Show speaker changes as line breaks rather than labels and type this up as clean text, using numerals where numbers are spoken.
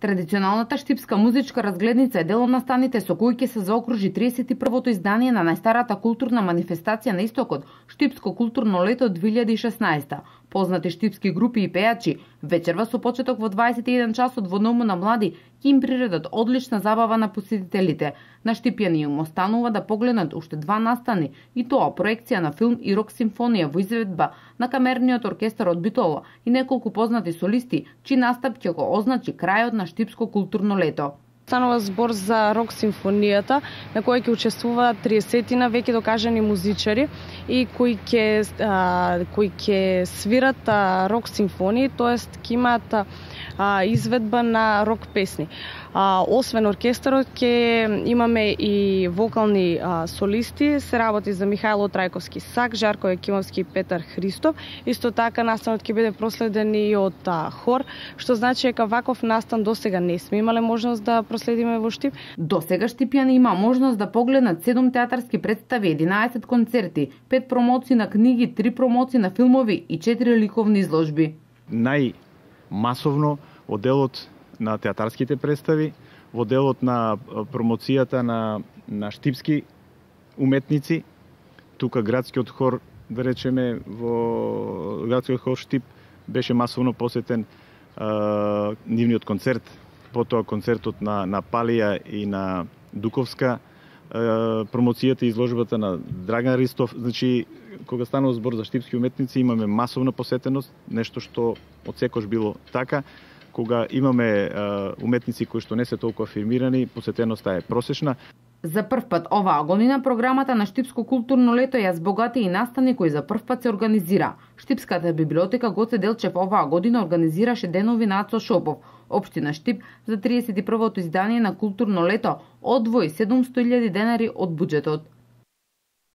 Традиционалната штипска музичка разгледница е дел од настаните со кои ќе се заокружи 31-то издание на најстарата културна манифестација на Истокот, Штипско културно лето 2016. Познати штипски групи и пејачи вечерва со почеток во 21 часот во Домот на млади ќе им приредат одлична забава на посетителите. На штипјани им останува да погледнат уште 2 настани, и тоа проекција на филм и рок симфонија во изведба на камерниот оркестар од Битола и неколку познати солисти, чиј настап ќе го означи крајот на Штипско културно лето.
Станува збор за рок симфонијата, на која ќе учествуваат 30 веќе докажани музичари и кои ќе свират рок симфонии, тоест ќе имаат изведба на рок песни. Освен оркестарот ќе имаме и вокални солисти, се работи за Михајло Трајковски Сак, Жарко Екимовски и Петар Христов. Исто така настанот ќе биде проследен и од хор, што значи дека ваков настан досега не сме имале можност да проследиме во Штип.
Досега штипјани има можност да погледнат 7 театарски представи, 11 концерти, 5 промоции на книги, 3 промоции на филмови и 4 ликовни изложби.
Масовно во делот на театарските представи, во делот на промоцијата на штипски уметници. Тука градскиот хор, да речеме, во градскиот хор Штип беше масовно посетен нивниот концерт, потоа концертот на Палија и на Дуковска, промоцијата и изложбата на Драган Ристов. Значи, кога станува збор за штипски уметници, имаме масовна посетеност, нешто што од секош било така. Кога имаме уметници кои што не се толку афирмирани, посетеноста е просечна.
За прв пат оваа година програмата на Штипско културно лето ја збогати и настани кои за прв пат се организира. Штипската библиотека Гоце Делчев оваа година организираше денови на Ацо Шопов. Општина Штип за 31-то издание на културно лето одвои 700.000 денари од буџетот.